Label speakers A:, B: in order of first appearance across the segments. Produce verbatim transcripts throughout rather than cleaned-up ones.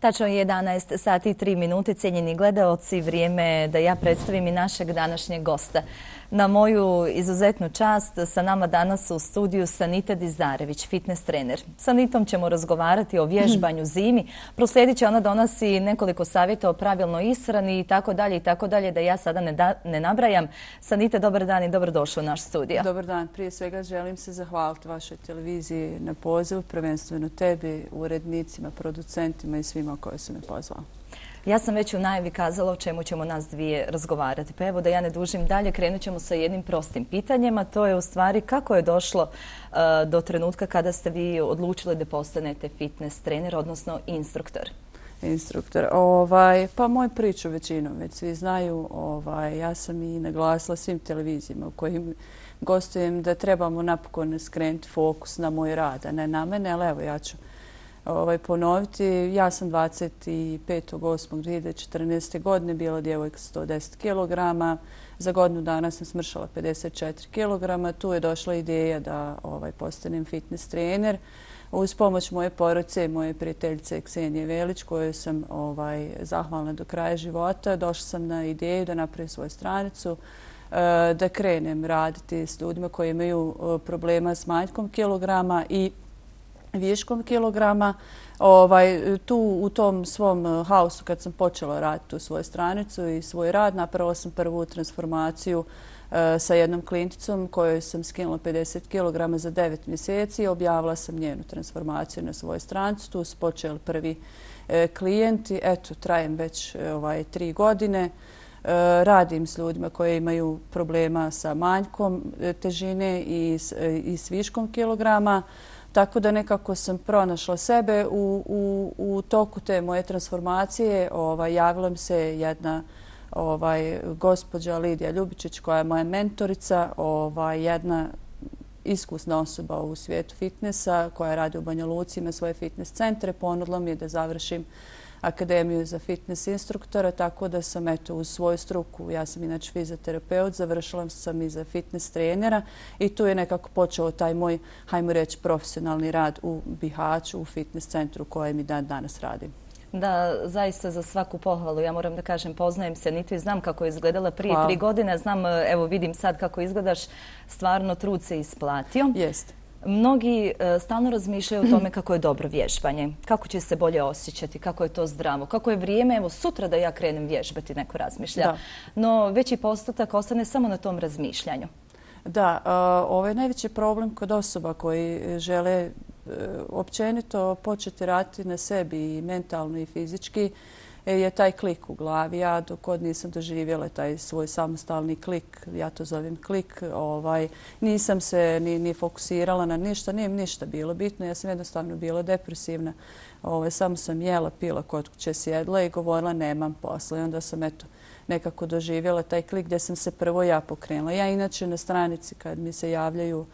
A: Tačno je jedanaest sati i tri minute, cijenjeni gledaoci, vrijeme je da ja predstavim i našeg današnjeg gosta. Na moju izuzetnu čast sa nama danas u studiju Sanita Dizarević, fitness trener. Sa Nitom ćemo razgovarati o vježbanju zimi. Proslijedit će ona donosi nekoliko savjeta o pravilnoj ishrani i tako dalje i tako dalje, da ja sada ne, da, ne nabrajam. Sanita, dobar dan i dobrodošli u naš studio.
B: Dobar dan. Prije svega želim se zahvaliti vašoj televiziji na pozivu, prvenstveno tebi, urednicima, producentima i svima koji su me pozvali.
A: Ja sam već u najavi kazala o čemu ćemo nas dvije razgovarati. Pa evo da ja ne dužim dalje, krenut ćemo sa jednim prostim pitanjem, a to je u stvari kako je došlo uh, do trenutka kada ste vi odlučili da postanete fitness trener, odnosno instruktor.
B: Instruktor. Ovaj, pa moju priču većinom već svi znaju. Ovaj, ja sam i naglasila svim televizijama u kojim gostujem da trebamo napokon skrenuti fokus na moj rad, a ne na mene, ali evo ja ću Ovaj, ponoviti. Ja sam dvadeset petog osmog dvije hiljade četrnaeste. godine bila djevojka sto deset kilograma. Za godinu dana sam smršala pedeset četiri kilograma. Tu je došla ideja da ovaj, postanem fitness trener. Uz pomoć moje porodice i moje prijateljice Ksenije Velić, kojoj sam ovaj, zahvalna do kraja života, došla sam na ideju da napravim svoju stranicu, da krenem raditi s ljudima koji imaju problema s manjkom kilograma i viškom kilograma. Ovaj, tu u tom svom haosu kad sam počela raditi tu svoju stranicu i svoj rad, napravila sam prvu transformaciju uh, sa jednom klijenticom kojoj sam skinula pedeset kilograma za devet mjeseci. Objavila sam njenu transformaciju na svojoj stranici. Tu su počeli prvi uh, klijenti. Eto, trajem već ovaj, tri godine. Uh, radim s ljudima koji imaju problema sa manjkom težine i s, i s viškom kilograma. Tako da nekako sam pronašla sebe u, u, u toku te moje transformacije. Ovaj, javila mi se jedna ovaj, gospođa Lidija Ljubičić koja je moja mentorica, ovaj, jedna iskusna osoba u svijetu fitnessa koja radi u Banja Luci, ima svoje fitness centre. Ponudila mi je da završim akademiju za fitness instruktora, tako da sam eto uz svoju struku, ja sam inače fizioterapeut, završila sam i za fitness trenera i tu je nekako počeo taj moj, hajmo reći, profesionalni rad u Bihaću, u fitness centru kojem i dan danas radim.
A: Da, zaista za svaku pohvalu. Ja moram da kažem, poznajem se Nitu i znam kako je izgledala prije
B: Hvala.
A: tri godine. Znam, evo vidim sad kako izgledaš, stvarno trud se isplatio.
B: Jeste.
A: Mnogi uh, stalno razmišljaju o tome kako je dobro vježbanje, kako će se bolje osjećati, kako je to zdravo, kako je vrijeme, evo sutra da ja krenem vježbati, neko razmišlja. Da. No veći postotak ostane samo na tom razmišljanju.
B: Da, uh, ovo je najveći problem kod osoba koji žele uh, općenito početi raditi na sebi i mentalno i fizički, je taj klik u glavi. Ja dok god nisam doživjela taj svoj samostalni klik, ja to zovem klik, ovaj, nisam se ni, ni fokusirala na ništa, nije ništa bilo bitno. Ja sam jednostavno bila depresivna. Ovaj, samo sam jela, pila kod kuće, sjedla i govorila nemam posla. I onda sam eto, nekako doživjela taj klik gdje sam se prvo ja pokrenula. Ja inače na stranici kad mi se javljaju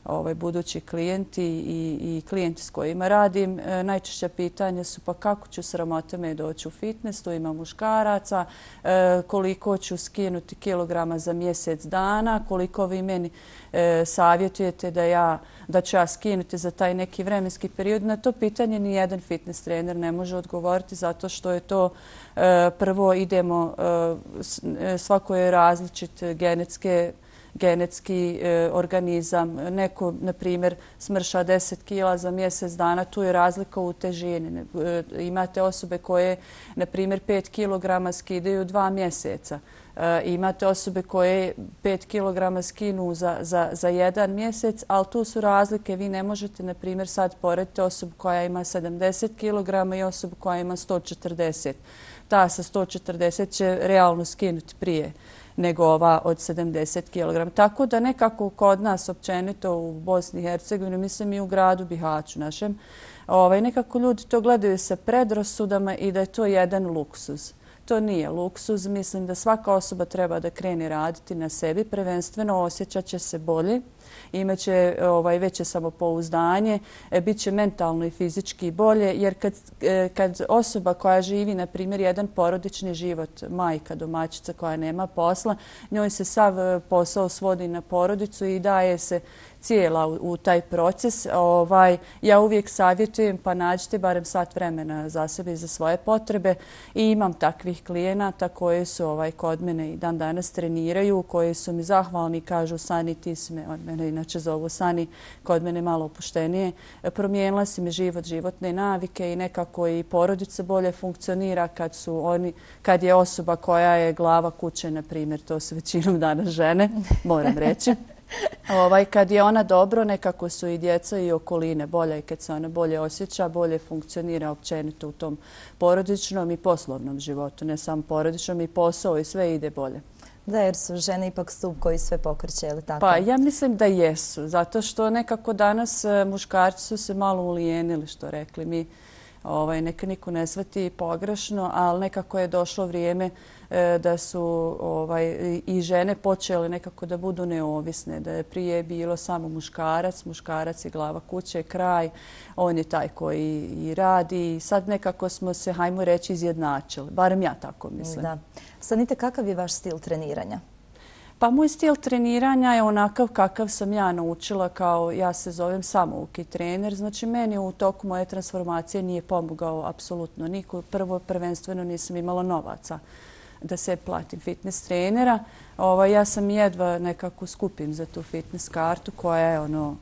B: ovaj, budući klijenti i, i klijenti s kojima radim, e, najčešća pitanja su pa kako ću sramota me doći u fitness, tu ima muškaraca, e, koliko ću skinuti kilograma za mjesec dana, koliko vi meni e, savjetujete da, ja, da ću ja skinuti za taj neki vremenski period. Na to pitanje ni jedan fitness trener ne može odgovoriti zato što je to e, prvo idemo, e, svako je različit genetske genetski e, organizam. Neko, na primjer, smrša deset kila za mjesec dana, tu je razlika u težini. E, imate osobe koje, na primjer, pet kilograma skidaju dva mjeseca. E, imate osobe koje pet kilograma skinu za, za, za jedan mjesec, ali tu su razlike. Vi ne možete, na primjer, sad porediti osobu koja ima sedamdeset kilograma i osobu koja ima sto četrdeset. Ta sa sto četrdeset će realno skinuti prije nego ova od sedamdeset kilograma. Tako da nekako kod nas općenito u Bosni i Hercegovini, mislim i u gradu Bihaću našem, ovaj, nekako ljudi to gledaju sa predrasudama i da je to jedan luksuz. To nije luksuz. Mislim da svaka osoba treba da krene raditi na sebi. Prvenstveno osjećat će se bolje imaće ovaj, veće samopouzdanje, bit će mentalno i fizički bolje, jer kad, kad osoba koja živi, na primjer, jedan porodični život, majka, domaćica koja nema posla, njoj se sav posao svodi na porodicu i daje se cijela u, u taj proces. Ovaj, ja uvijek savjetujem pa nađite barem sat vremena za sebe i za svoje potrebe i imam takvih klijenata koji su ovaj, kod mene i dan danas treniraju, koji su mi zahvalni i kažu Sani, ti si me, od mene inače zovu Sani, kod mene malo opuštenije, promijenila si mi život, životne navike i nekako i porodica bolje funkcionira kad su oni, kad je osoba koja je glava kuće, na primjer, to su većinom danas žene, moram reći. Ovaj, kad je ona dobro, nekako su i djeca i okoline bolje i kad se ona bolje osjeća, bolje funkcionira općenito u tom porodičnom i poslovnom životu. Ne samo porodičnom, i posao i sve ide bolje.
A: Da, jer su žene ipak stup koji sve pokreće, je li tako?
B: Pa ja mislim da jesu, zato što nekako danas muškarci su se malo ulijenili, što rekli mi. Ovaj, neka niko ne shvati pogrešno, ali nekako je došlo vrijeme da su ovaj, i žene počele nekako da budu neovisne, da je prije bilo samo muškarac, muškarac je glava kuće, kraj, on je taj koji i radi i sad nekako smo se, hajmo reći, izjednačili, barem ja tako mislim.
A: Da. Sanita, kakav je vaš stil treniranja?
B: Pa moj stil treniranja je onakav kakav sam ja naučila, kao ja se zovem samouki trener. Znači meni u toku moje transformacije nije pomogao apsolutno niko. Prvo, prvenstveno nisam imala novaca da se platim fitness trenera. Ovo, ja sam jedva nekako skupim za tu fitness kartu koja je ono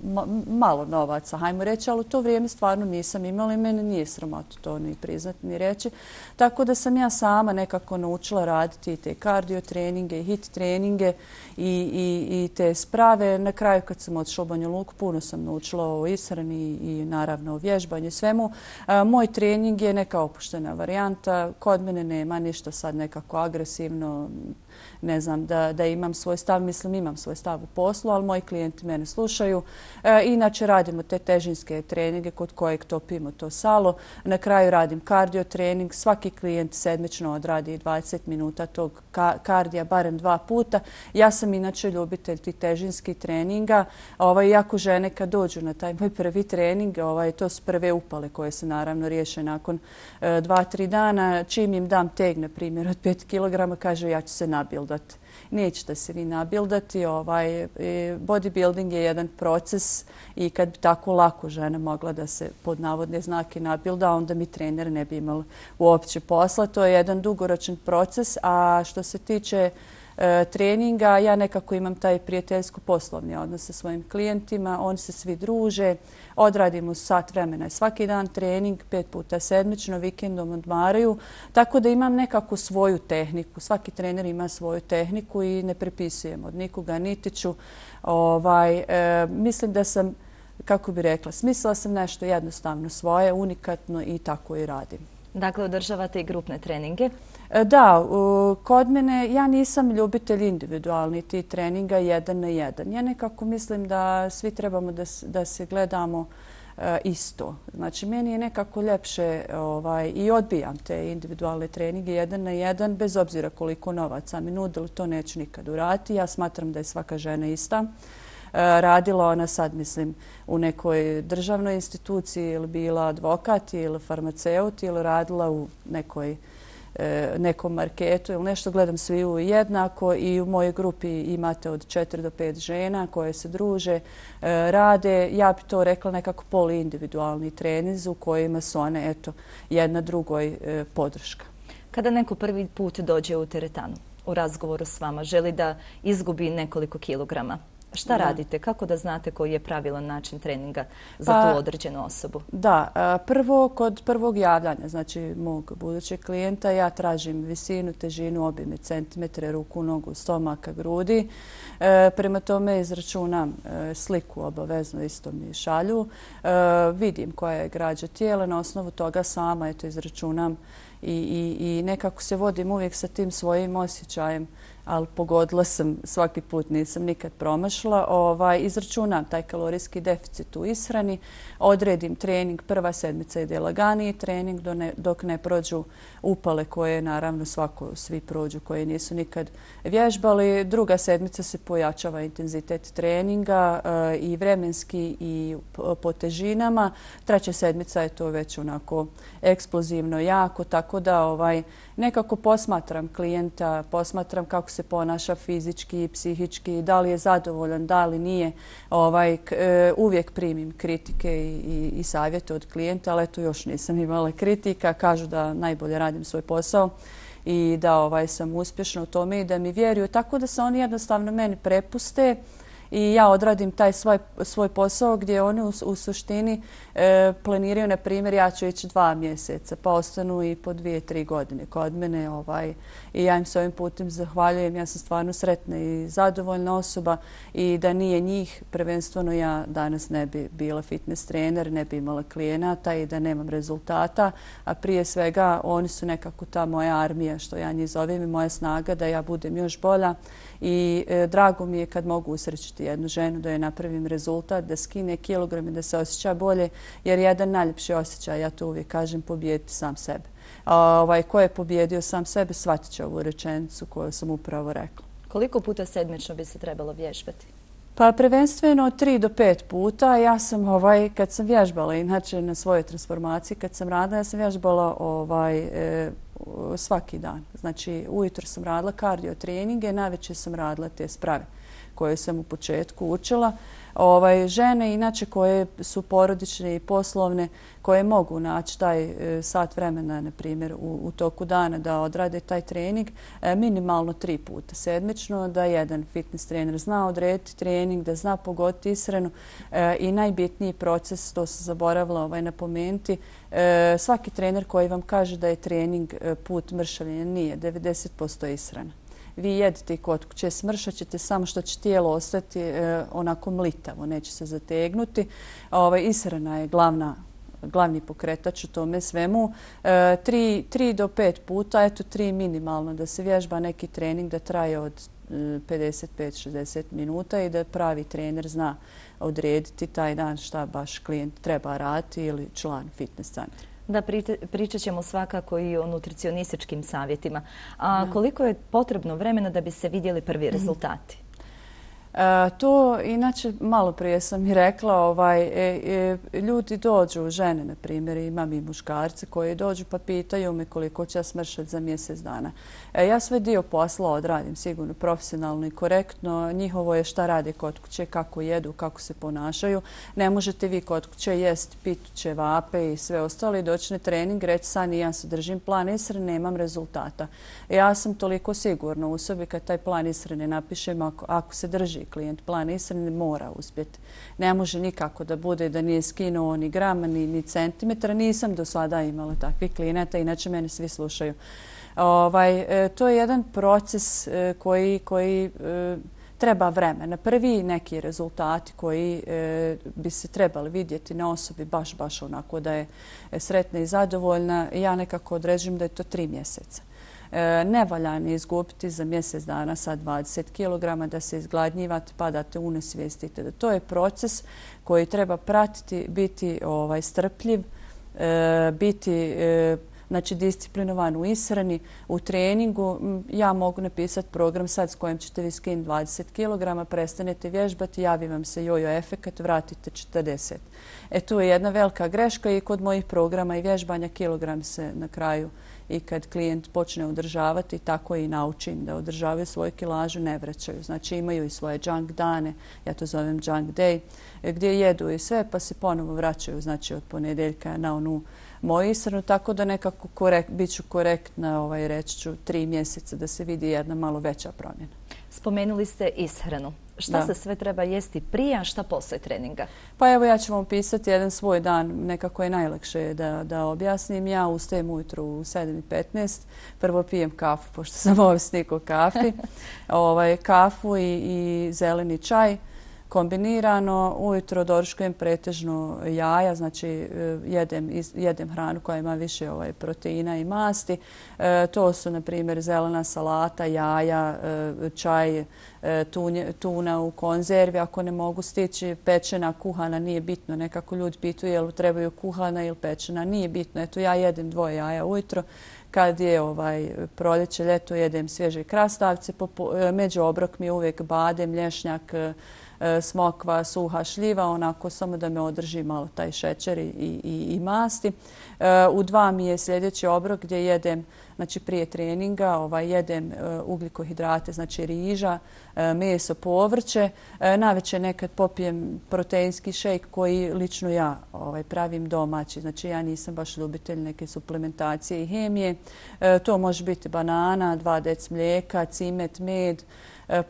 B: ma, malo novaca, hajmo reći, ali u to vrijeme stvarno nisam imala i mene nije sramota to ni priznati ni reći. Tako da sam ja sama nekako naučila raditi te kardio treninge i hit treninge i, i, i te sprave. Na kraju kad sam otišla u Banja Luku, puno sam naučila o ishrani i naravno o vježbanju svemu. A, moj trening je neka opuštena varijanta. Kod mene nema ništa sad nekako agresivno, ne znam, da, da imam svoj stav. Mislim, imam svoj stav u poslu, ali moji klijenti mene slušaju. E, inače, radimo te težinske treninge kod kojeg topimo to salo. Na kraju radim kardio trening. Svaki klijent sedmično odradi dvadeset minuta tog ka kardija, barem dva puta. Ja sam inače ljubitelj tih težinskih treninga. Ovaj, jako žene kad dođu na taj moj prvi trening, ovaj, to su prve upale koje se naravno riješe nakon e, dva, tri dana. Čim im dam teg, na primjer, od pet kilograma, kaže ja ću se nabildati. Nećete se vi nabildati. Ovaj, bodybuilding je jedan proces i kad bi tako lako žena mogla da se pod navodne znake nabilda, onda mi trener ne bi imala uopće posla. To je jedan dugoročan proces, a što se tiče e, treninga, ja nekako imam taj prijateljsko-poslovni odnos sa svojim klijentima. Oni se svi druže, odradimo sat vremena svaki dan trening, pet puta sedmično, vikendom odmaraju. Tako da imam nekako svoju tehniku. Svaki trener ima svoju tehniku i ne prepisujem od nikoga, niti ću. Ovaj, e, mislim da sam, kako bi rekla, smislila sam nešto jednostavno svoje, unikatno i tako i radim.
A: Dakle, održavate i grupne treninge?
B: Da, kod mene ja nisam ljubitelj individualni ti treninga jedan na jedan. Ja nekako mislim da svi trebamo da, da se gledamo isto. Znači, meni je nekako ljepše ovaj, i odbijam te individualne treninge jedan na jedan, bez obzira koliko novaca mi nudili, to neću nikad uraditi. Ja smatram da je svaka žena ista. Radila ona sad, mislim, u nekoj državnoj instituciji ili bila advokat ili farmaceut ili radila u nekoj nekom marketu ili nešto, gledam svi u jednako i u mojoj grupi imate od četiri do pet žena koje se druže, rade. Ja bi to rekla nekako poliindividualni treninzi u kojima su one, eto, jedna drugoj podrška.
A: Kada neko prvi put dođe u teretanu u razgovoru s vama, želi da izgubi nekoliko kilograma, šta da. radite? Kako da znate koji je pravilan način treninga za pa, tu određenu osobu?
B: Da, prvo kod prvog javljanja, znači mog budućeg klijenta, ja tražim visinu, težinu, obime, centimetre, ruku, nogu, stomaka, grudi. E, prema tome izračunam e, sliku, obavezno isto mi šalju. E, vidim koja je građa tijela, na osnovu toga sama eto, izračunam i, i, i nekako se vodim uvijek sa tim svojim osjećajem. ali pogodila sam svaki put, nisam nikad promašla. Ovaj, izračunam taj kalorijski deficit u ishrani, odredim trening, prva sedmica ide laganiji trening dok ne prođu upale koje naravno svako, svi prođu koji nisu nikad vježbali. Druga sedmica se pojačava intenzitet treninga i vremenski i po težinama. Treća sedmica je to već onako eksplozivno jako, tako da ovaj, nekako posmatram klijenta, posmatram kako se ponaša fizički i psihički, da li je zadovoljan, da li nije. Ovaj, uvijek primim kritike i, i, i savjete od klijenta, ali eto još nisam imala kritika. Kažu da najbolje radim svoj posao i da ovaj, sam uspješna u tome i da mi vjeruju. Tako da se oni jednostavno meni prepuste i ja odradim taj svoj, svoj posao gdje oni u, u suštini e, planiraju, na primjer, ja ću ići dva mjeseca, pa ostanu i po dvije, tri godine kod mene. Ovaj, I ja im se ovim putem zahvaljujem. Ja sam stvarno sretna i zadovoljna osoba i da nije njih, prvenstveno ja danas ne bi bila fitness trener, ne bi imala klijenata i da nemam rezultata. A prije svega oni su nekako ta moja armija, što ja njih zovem, i moja snaga da ja budem još bolja. I e, drago mi je kad mogu usrećiti jednu ženu, da joj napravim rezultat, da skine kilograme, da se osjeća bolje, jer jedan najljepši osjećaj, ja to uvijek kažem, pobijediti sam sebe. A, ovaj, ko je pobjedio sam sebe, shvatit će ovu rečenicu koju sam upravo rekla.
A: Koliko puta sedmično bi se trebalo vježbati?
B: Pa prvenstveno tri do pet puta. Ja sam, ovaj, kad sam vježbala, inače na svojoj transformaciji, kad sam radila, ja sam vježbala ovaj, e, svaki dan. Znači, ujutro sam radila kardio treninge, navečer sam radila te sprave koje sam u početku učila. Ovaj, žene, inače, koje su porodične i poslovne, koje mogu naći taj e, sat vremena, na primjer, u, u toku dana da odrade taj trening, e, minimalno tri puta sedmično, da jedan fitness trener zna odrediti trening, da zna pogoditi ishranu e, i najbitniji proces, to se zaboravila ovaj, napomenuti, e, svaki trener koji vam kaže da je trening e, put mršavljenja, nije, devedeset posto ishrana. Vi jedete i kod kuće, smršat ćete samo što će tijelo ostati e, onako mlitavo, neće se zategnuti. Ovaj, ishrana je glavna, glavni pokretač u tome svemu. E, tri, tri do pet puta, eto tri minimalno, da se vježba neki trening da traje od e, pedeset pet do šezdeset minuta i da pravi trener zna odrediti taj dan šta baš klijent treba raditi ili član fitness centra.
A: Da, pričat ćemo svakako i o nutricionističkim savjetima. A koliko je potrebno vremena da bi se vidjeli prvi rezultati?
B: E, to, inače, malo prije sam i rekla, ovaj, e, e, ljudi dođu, žene, na primjer, imam i muškarce koji dođu pa pitaju me koliko će ja smršati za mjesec dana. E, ja svoj dio posla odradim sigurno profesionalno i korektno. Njihovo je šta rade kod kuće, kako jedu, kako se ponašaju. Ne možete vi kod kuće jest pitu, ćevape i sve ostalo i doći na trening, reći sad ja se držim plan ishrane, nemam rezultata. E, ja sam toliko sigurna u sebi kad taj plan ishrane napišem, ako, ako se drži klijent plan ishrane, mora uspjeti. Ne može nikako da bude da nije skinuo ni grama ni, ni centimetra. Nisam do sada imala takvih klijenata, inače mene svi slušaju. Ovaj, e, to je jedan proces e, koji, koji e, treba vremena. Prvi neki rezultati koji e, bi se trebali vidjeti na osobi baš, baš onako da je sretna i zadovoljna, ja nekako određujem da je to tri mjeseca. E, ne valja ne izgubiti za mjesec dana sa dvadeset kilograma, da se izgladnjivate, padate u nesvijestite. Da to je proces koji treba pratiti, biti ovaj, strpljiv, e, biti e, znači disciplinovan u ishrani, u treningu. Ja mogu napisati program sad s kojim ćete vi skinuti dvadeset kilograma, prestanete vježbati, javi vam se jojo efekat, vratite četrdeset. E tu je jedna velika greška i kod mojih programa i vježbanja kilogram se na kraju i kad klijent počne održavati, tako i naučim da održavaju svoju kilažu, ne vraćaju. Znači imaju i svoje junk dane, ja to zovem junk day, gdje jedu i sve pa se ponovo vraćaju, znači od ponedjeljka na onu moju ishranu, tako da nekako korekt, bit ću korektna, ovaj, reći ću tri mjeseca da se vidi jedna malo veća promjena.
A: Spomenuli ste ishranu. Šta da. se sve treba jesti prije, a šta poslije treninga?
B: Pa evo ja ću vam pisati jedan svoj dan, nekako je najlakše da, da objasnim. Ja ustajem ujutru u sedam i petnaest, prvo pijem kafu, pošto sam ovisnik o kafi, ovaj, kafu i, i zeleni čaj. kombinirano. Ujutro doručkujem pretežno jaja, znači jedem, jedem hranu koja ima više ovaj, proteina i masti. E, to su, na primjer, zelena salata, jaja, e, čaj, e, tunje, tuna u konzervi. Ako ne mogu stići pečena, kuhana, nije bitno. Nekako ljudi pitaju jel trebaju kuhana ili pečena. Nije bitno. Eto, ja jedem dvoje jaja ujutro. Kad je ovaj, proljeće, ljeto, jedem svježe krastavce. Među obrok mi je uvijek badem, lješnjak, smokva, suha šljiva, onako samo da me održi malo taj šećer i, i, i masti. U dva mi je sljedeći obrok gdje jedem, znači prije treninga, ovaj, jedem ugljikohidrate, znači riža, meso, povrće. Navečer nekad popijem proteinski šejk koji lično ja ovaj, pravim domaći. Znači ja nisam baš ljubitelj neke suplementacije i hemije. To može biti banana, dva deci mlijeka, cimet, med.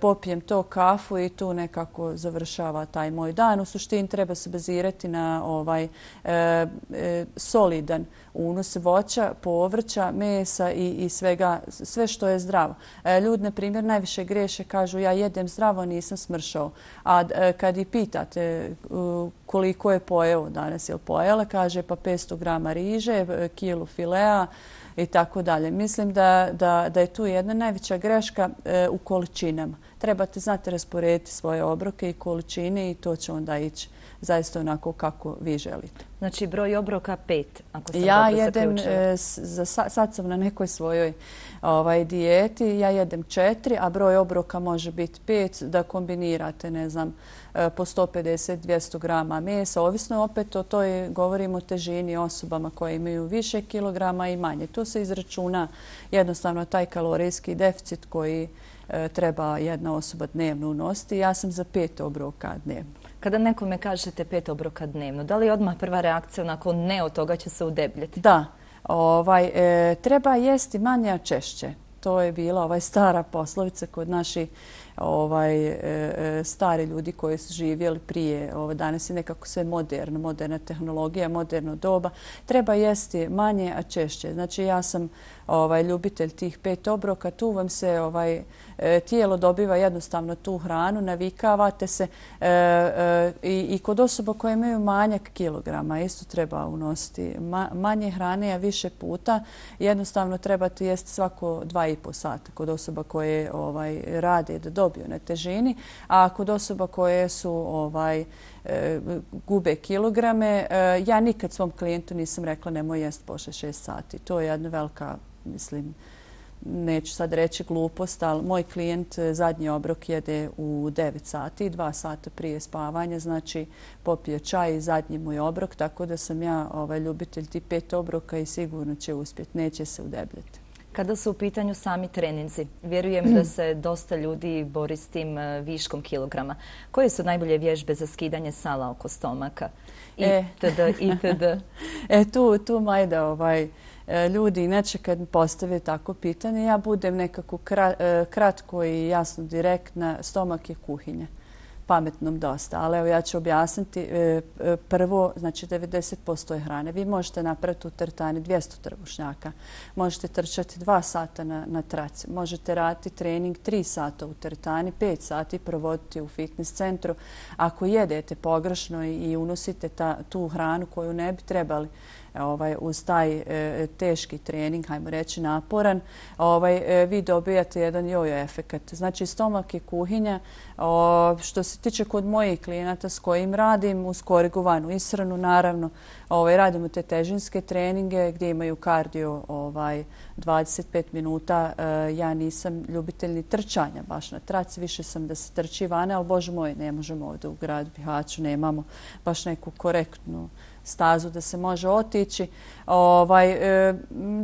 B: Popijem to, kafu i tu nekako završava taj moj dan. U suštini treba se bazirati na ovaj e, e, solidan unos voća, povrća, mesa i, i svega, sve što je zdravo. E, ljudi, na primjer, najviše greše, kažu ja jedem zdravo, nisam smršao. A e, kad i pitate e, koliko je pojeo danas ili pojela, kaže pa petsto grama riže, kilu filea, i tako dalje. Mislim da, da, da je tu jedna najveća greška e, u količinama. Trebate znati rasporediti svoje obroke i količine i to će onda ići zaista onako kako vi želite.
A: Znači broj obroka pet, ako sam
B: ja
A: dobro
B: jedem, e, za, sad sam na nekoj svojoj ovaj, dijeti, ja jedem četiri, a broj obroka može biti pet, da kombinirate, ne znam, po sto pedeset do dvjesto grama mesa. Ovisno opet o toj, govorimo o težini osobama koje imaju više kilograma i manje. Tu se izračuna jednostavno taj kalorijski deficit koji e, treba jedna osoba dnevno unositi. Ja sam za pet obroka dnevno.
A: Kada nekome kažete pet obroka dnevno, da li je odmah prva reakcija onako ne od toga će se udebljati?
B: Da. Ovaj, e, treba jesti manje, a češće. To je bila ovaj stara poslovica kod naših ovaj, e, stari ljudi koji su živjeli prije. Ovaj, danas je nekako sve moderno, moderna tehnologija, moderno doba. Treba jesti manje, a češće. Znači ja sam ovaj, ljubitelj tih pet obroka. Tu vam se ovaj, tijelo dobiva jednostavno tu hranu, navikavate se e, e, i, i kod osoba koje imaju manjak kilograma isto treba unositi Ma, manje hrane, a više puta. Jednostavno trebate jesti svako dva i po sata kod osoba koje ovaj, rade da dobiju na težini, a kod osoba koje su ovaj, e, gube kilograme, e, ja nikad svom klijentu nisam rekla nemoj jesti poslije šest sati. To je jedna velika, mislim, neću sad reći glupost, ali moj klijent zadnji obrok jede u devet sati, dva sata prije spavanja, znači popije čaj i zadnji moj obrok, tako da sam ja ovaj, ljubitelj ti pet obroka i sigurno će uspjeti, neće se udebljati.
A: Kada su u pitanju sami treninzi, vjerujem da se dosta ljudi bori s tim viškom kilograma. Koje su najbolje vježbe za skidanje sala oko stomaka? Itd. itd.
B: E, tu, tu Majda, ovaj, ljudi inače kad postave tako pitanje, ja budem nekako kratko i jasno direktna, stomak je kuhinja. Pametnom dosta, ali evo ja ću objasniti. Prvo, znači devedeset posto je hrane. Vi možete napraviti u teretani dvjesto trbušnjaka. Možete trčati dva sata na, na traci. Možete raditi trening tri sata u teretani, pet sati provoditi u fitness centru. Ako jedete pogrešno i unosite ta, tu hranu koju ne bi trebali ovaj, uz taj e, teški trening, hajmo reći naporan, ovaj, e, vi dobijate jedan jojo efekat. Znači stomak je kuhinja. O, što se tiče kod mojih klijenata s kojim radim, uz korigovanu ishranu, naravno, ovaj, radimo te težinske treninge gdje imaju kardio ovaj, dvadeset pet minuta. E, ja nisam ljubitelj ni trčanja baš na traci, više sam da se trči vane, ali bože moj, ne možemo ovdje u gradu Bihaću, nemamo baš neku korektnu stazu da se može otići. Ovaj, e,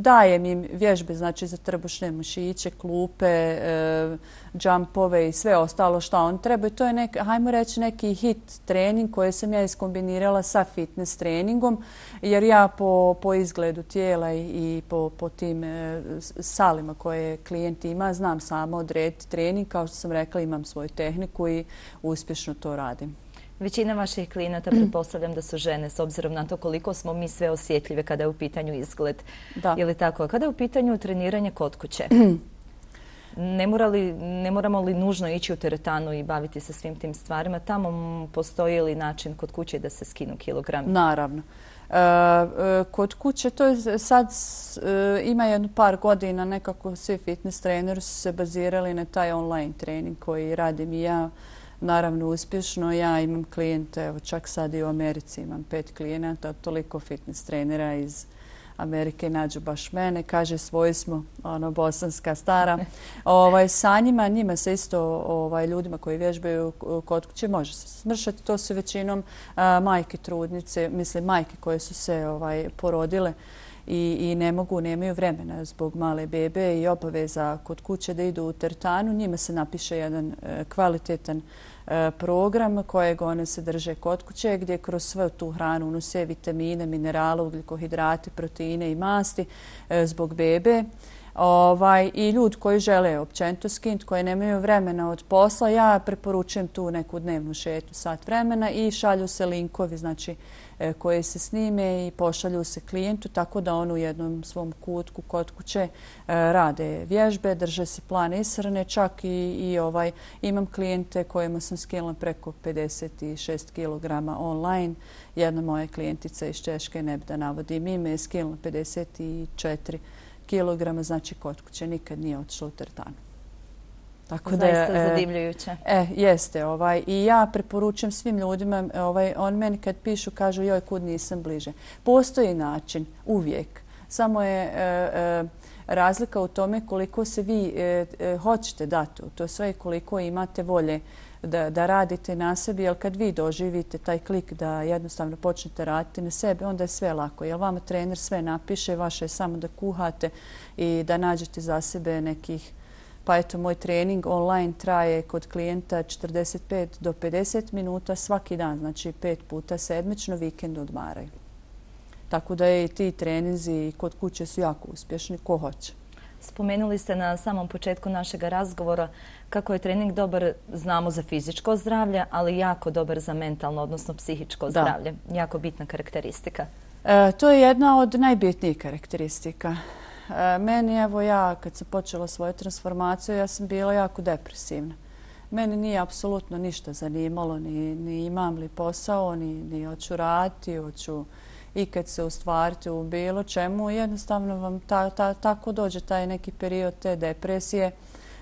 B: dajem im vježbe znači, za trbušne mišiće, klupe, e, džampove i sve ostalo što on treba. To je nek, hajmo reći neki hit trening koji sam ja iskombinirala sa fitness treningom, jer ja po, po izgledu tijela i, i po, po tim e, salima koje klijent ima znam samo odrediti trening. Kao što sam rekla, imam svoju tehniku i uspješno to radim.
A: Većina vaših klijenata, pretpostavljam da su žene, s obzirom na to koliko smo mi sve osjetljive kada je u pitanju izgled.
B: Da.
A: Ili tako? Kada je u pitanju treniranje kod kuće? Ne, mora li, ne moramo li nužno ići u teretanu i baviti se svim tim stvarima? Tamo postoji li način kod kuće da se skinu kilogrami?
B: Naravno. E, kod kuće to je sad e, ima jedno par godina nekako svi fitness treneri su se bazirali na taj online trening koji radim i ja. Naravno uspješno. Ja imam klijente, evo čak sad i u Americi imam pet klijenata, toliko fitness trenera iz Amerike nađu baš mene, kaže svoji smo, ono, bosanska stara. Ovaj, sa njima, njima se isto ovaj, ljudima koji vježbaju kod kuće može se smršati. To su većinom a, majke trudnice, mislim majke koje su se ovaj, porodile i, i ne mogu, nemaju vremena zbog male bebe i obaveza kod kuće da idu u teretanu. Njima se napiše jedan e, kvalitetan e, program kojeg one se drže kod kuće gdje kroz svu tu hranu unose vitamine, minerale, ugljikohidrate, proteine i masti e, zbog bebe. Ovaj, I ljudi koji žele općenito skinuti, koji nemaju vremena od posla, ja preporučujem tu neku dnevnu šetnju sat vremena i šalju se linkovi, znači koje se snime i pošalju se klijentu tako da on u jednom svom kutku kod kuće rade vježbe, drže se plan ishrane, čak i, i ovaj, imam klijente kojima sam skinula preko pedeset šest kilograma online. Jedna moja klijentica iz Češke, ne bi da navodim ime, je skinula pedeset četiri kilograma, znači kod kuće nikad nije otišla u teretanu.
A: Tako da je zaista zadivljujuće.
B: E, jeste. Ovaj, I ja preporučujem svim ljudima, ovaj, on meni kad pišu kažu joj kud nisam bliže. Postoji način, uvijek. Samo je e, e, razlika u tome koliko se vi e, e, hoćete dati. To je sve koliko imate volje da, da radite na sebi, jer kad vi doživite taj klik da jednostavno počnete raditi na sebe, onda je sve lako. Jer vama trener sve napiše, vaše je samo da kuhate i da nađete za sebe nekih. Pa eto, moj trening online traje kod klijenta četrdeset pet do pedeset minuta svaki dan, znači pet puta sedmično, vikend odmaraju. Tako da i ti treninzi kod kuće su jako uspješni, ko hoće.
A: Spomenuli ste na samom početku našeg razgovora kako je trening dobar, znamo, za fizičko zdravlje, ali jako dobar za mentalno, odnosno psihičko zdravlje. Da. Jako bitna karakteristika.
B: E, to je jedna od najbitnijih karakteristika. Meni, evo ja, kad sam počela svoju transformaciju, ja sam bila jako depresivna. Meni nije apsolutno ništa zanimalo, ni, ni imam li posao, ni, ni hoću raditi, hoću ikad se ustvariti u bilo čemu. Jednostavno vam ta, ta, tako dođe taj neki period te depresije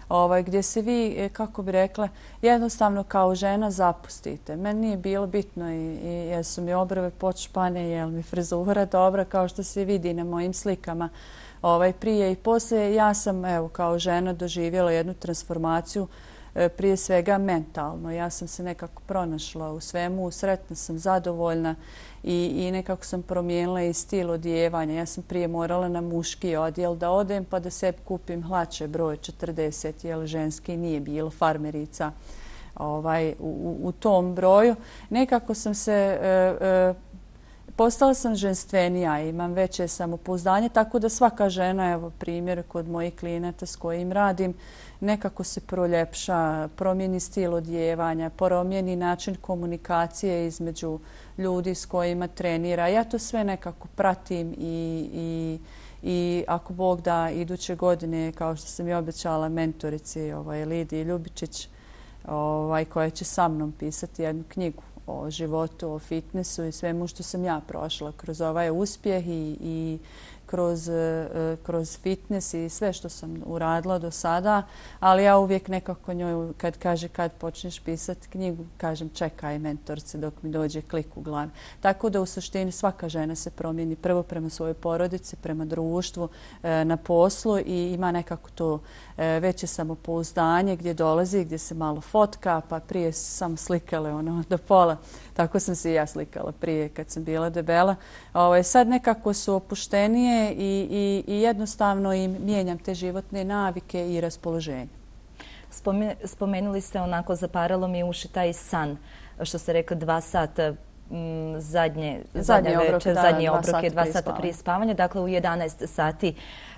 B: ovaj, gdje se vi, kako bi rekla, jednostavno kao žena zapustite. Meni nije bilo bitno i, i jesu mi obrve počpane, je li mi frizura dobra, kao što se vidi na mojim slikama. Ovaj, prije i poslije ja sam evo, kao žena doživjela jednu transformaciju e, prije svega mentalno. Ja sam se nekako pronašla u svemu, sretna sam, zadovoljna i, i nekako sam promijenila i stil odjevanja. Ja sam prije morala na muški odjel da odem pa da sebi kupim hlače broj četrdeset, jer ženski nije bilo, farmerica ovaj, u, u tom broju. Nekako sam se... E, e, Postala sam ženstvenija, imam veće samopouzdanje, tako da svaka žena, evo primjer kod mojih klijenata s kojim radim, nekako se proljepša, promijeni stil odjevanja, promijeni način komunikacije između ljudi s kojima trenira. Ja to sve nekako pratim i, i, i ako Bog da iduće godine, kao što sam i obećala mentorici ovaj, Lidiji Ljubičić, ovaj, koja će sa mnom pisati jednu knjigu o životu, o fitnessu i svemu što sam ja prošla kroz ovaj uspjeh i, i kroz, kroz fitness i sve što sam uradila do sada, ali ja uvijek nekako njoj kad kaže kad počneš pisati knjigu, kažem čekaj mentorce dok mi dođe klik u glavi. Tako da u suštini svaka žena se promijeni prvo prema svojoj porodici, prema društvu, na poslu i ima nekako to veće samopouzdanje gdje dolazi, gdje se malo fotka, pa prije sam slikale ono do pola. Tako sam se i ja slikala prije kad sam bila debela. Ovo, sad nekako su opuštenije i, i, i jednostavno im mijenjam te životne navike i raspoloženje.
A: Spomenuli ste onako, zaparalo mi uši taj san, što ste rekli dva sata m, zadnje, zadnje večer, zadnje obroke, dva sata prije spavanja. Dakle, u jedanaest sati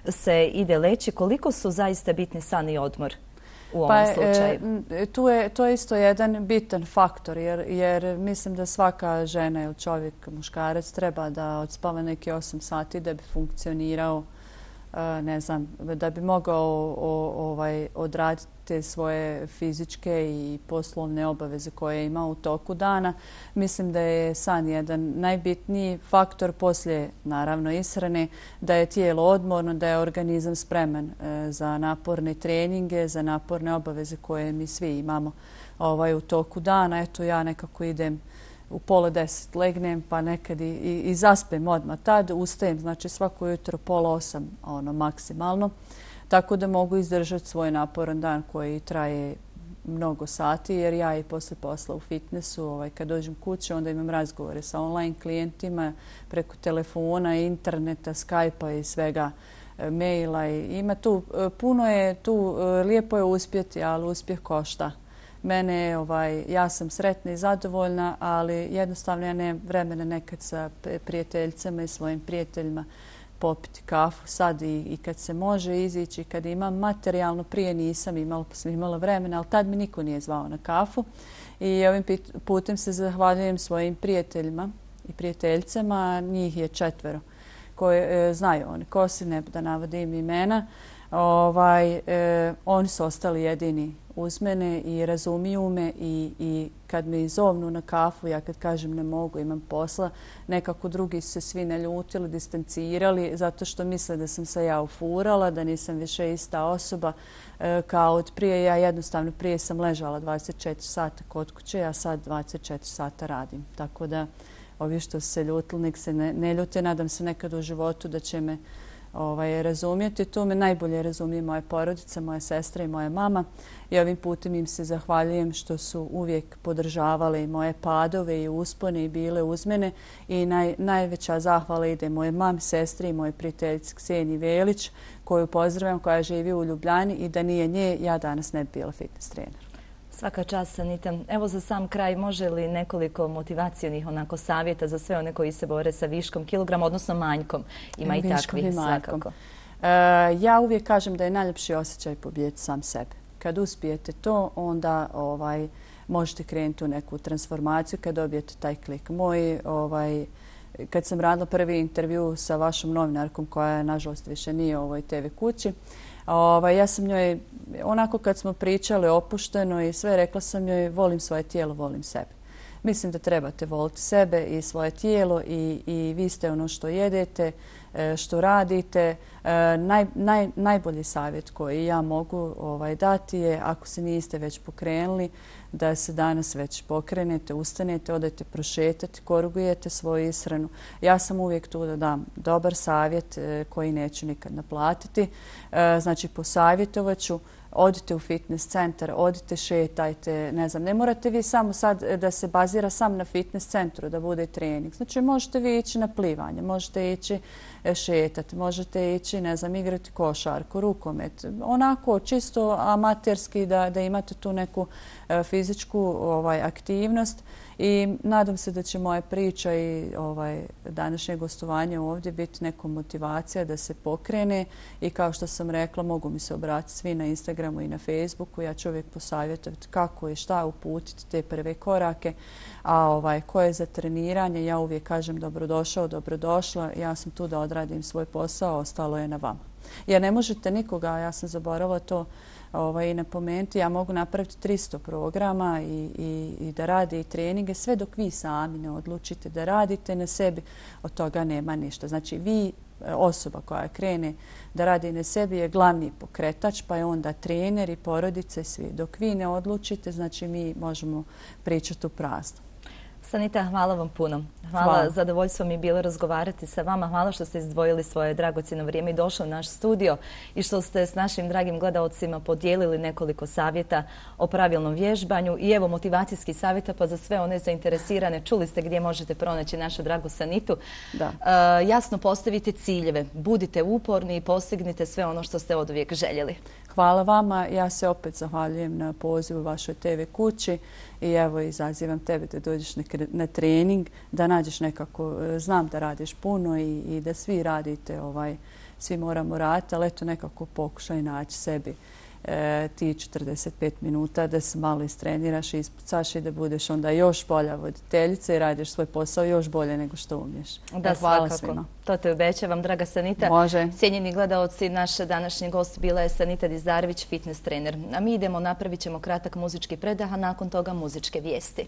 A: se ide leći. Koliko su zaista bitni san i odmor u ovom
B: pa,
A: slučaju?
B: E, tu je, to je isto jedan bitan faktor, jer, jer mislim da svaka žena ili čovjek, muškarac, treba da odspava neke osam sati da bi funkcionirao ne znam, da bi mogao ovaj, odraditi te svoje fizičke i poslovne obaveze koje ima u toku dana. Mislim da je san jedan najbitniji faktor poslije, naravno, ishrane, da je tijelo odmorno, da je organizam spreman za naporne treninge, za naporne obaveze koje mi svi imamo ovaj, u toku dana. Eto, ja nekako idem u pola deset legnem, pa nekad i, i, i zaspem odmah. Tad ustajem, znači svako jutro pola osam, ono, maksimalno. Tako da mogu izdržati svoj naporan dan koji traje mnogo sati, jer ja i posle posla u fitnessu, ovaj, kad dođem kuće, onda imam razgovore sa online klijentima preko telefona, interneta, Skype-a i svega, maila. Ima tu, puno je tu, lijepo je uspjeti, ali uspjeh košta. Mene, ovaj, ja sam sretna i zadovoljna, ali jednostavno ja nemam vremena nekad sa prijateljicama i svojim prijateljima popiti kafu sad i, i kad se može izići, kad imam materijalno, prije nisam imala, pa sam imala vremena, ali tad mi niko nije zvao na kafu. I ovim putem se zahvaljujem svojim prijateljima i prijateljicama, njih je četvero koje e, znaju oni ko si, ne da navodim imena. Ovaj, e, oni su ostali jedini uz mene i razumiju me i, i kad me izovnu na kafu, ja kad kažem ne mogu, imam posla, nekako drugi su se svi naljutili, distancirali zato što misle da sam se ja ufurala, da nisam više ista osoba e, kao od prije. Ja jednostavno prije sam ležala dvadeset četiri sata kod kuće, ja sad dvadeset četiri sata radim. Tako da ovi što se ljutili, nek se ne, ne ljute, nadam se nekad u životu da će me ovaj, razumijeti. Tu me najbolje razumije moja porodica, moja sestra i moja mama. I ovim putem im se zahvaljujem što su uvijek podržavali moje padove i uspone i bile uz mene. I naj, najveća zahvala ide moje mami, sestri i moje prijateljici Kseniji Velić, koju pozdravljam, koja živi u Ljubljani i da nije nje, ja danas ne bi bila fitness trener.
A: Svaka čast, Sanita. Evo za sam kraj, može li nekoliko motivacijonih onako savjeta za sve one koji se bore sa viškom kilograma, odnosno manjkom? Ima i takvih svakako.
B: E, ja uvijek kažem da je najljepši osjećaj pobijeti sam sebe. Kad uspijete to, onda ovaj, možete krenuti u neku transformaciju kad dobijete taj klik. Moj, ovaj, kad sam radila prvi intervju sa vašom novinarkom, koja nažalost više nije u ovoj te ve kući, Ovaj, ja sam njoj, onako kad smo pričali opušteno i sve, rekla sam joj volim svoje tijelo, volim sebe. Mislim da trebate voliti sebe i svoje tijelo i, i vi ste ono što jedete, što radite. Naj, naj, najbolji savjet koji ja mogu ovaj, dati je, ako se niste već pokrenuli, da se danas već pokrenete, ustanete, odete prošetati, korigujete svoju ishranu. Ja sam uvijek tu da dam dobar savjet koji neću nikad naplatiti. Znači, posavjetovat ću. Odite u fitness centar, odite, šetajte, ne znam, ne morate vi samo sad da se bazira sam na fitness centru, da bude trening. Znači, možete vi ići na plivanje, možete ići šetati, možete ići, ne znam, igrati košarku, rukomet. Onako, čisto amaterski da, da imate tu neku fizičku ovaj, aktivnost. I nadam se da će moja priča i ovaj, današnje gostovanje ovdje biti neka motivacija da se pokrene i kao što sam rekla, mogu mi se obratiti svi na Instagramu i na Facebooku. Ja ću uvijek posavjetovati kako i šta uputiti te prve korake, a ovaj, ko je za treniranje, ja uvijek kažem dobrodošao, dobrodošla. Ja sam tu da odradim svoj posao, ostalo je na vama. Jer ne možete nikoga, ja sam zaboravila to ovaj, napomenuti, ja mogu napraviti tristo programa i, i, i da radi i treninge, sve dok vi sami ne odlučite da radite na sebi, od toga nema ništa. Znači, vi, osoba koja krene da radi na sebi, je glavni pokretač, pa je onda trener i porodice, svi. Dok vi ne odlučite, znači mi možemo pričati u prazno.
A: Sanita, hvala vam puno. Hvala, hvala. Zadovoljstvo mi je bilo razgovarati sa vama. Hvala što ste izdvojili svoje dragocjeno vrijeme i došli u naš studio i što ste s našim dragim gledaocima podijelili nekoliko savjeta o pravilnom vježbanju i evo motivacijski savjeta pa za sve one zainteresirane. Čuli ste gdje možete pronaći našu dragu Sanitu.
B: Da.
A: Uh, jasno postavite ciljeve, budite uporni i postignite sve ono što ste oduvijek željeli.
B: Hvala vama. Ja se opet zahvaljujem na pozivu vašoj te ve kući i evo izazivam tebe da dođeš na, na trening, da nađeš nekako, znam da radiš puno i, i da svi radite, ovaj, svi moramo raditi, ali eto nekako pokušaj naći sebi e, ti četrdeset pet minuta da se malo istreniraš i ispucaš i da budeš onda još bolja voditeljica i radiš svoj posao još bolje nego što umiješ.
A: Da,
B: hvala
A: svakako.
B: svima.
A: To te obećavam, draga Sanita.
B: Može.
A: Cijenjeni gledaoci, naš današnji gost bila je Sanita Dizarević, fitness trener. A mi idemo, napravit ćemo kratak muzički predah, a nakon toga muzičke vijesti.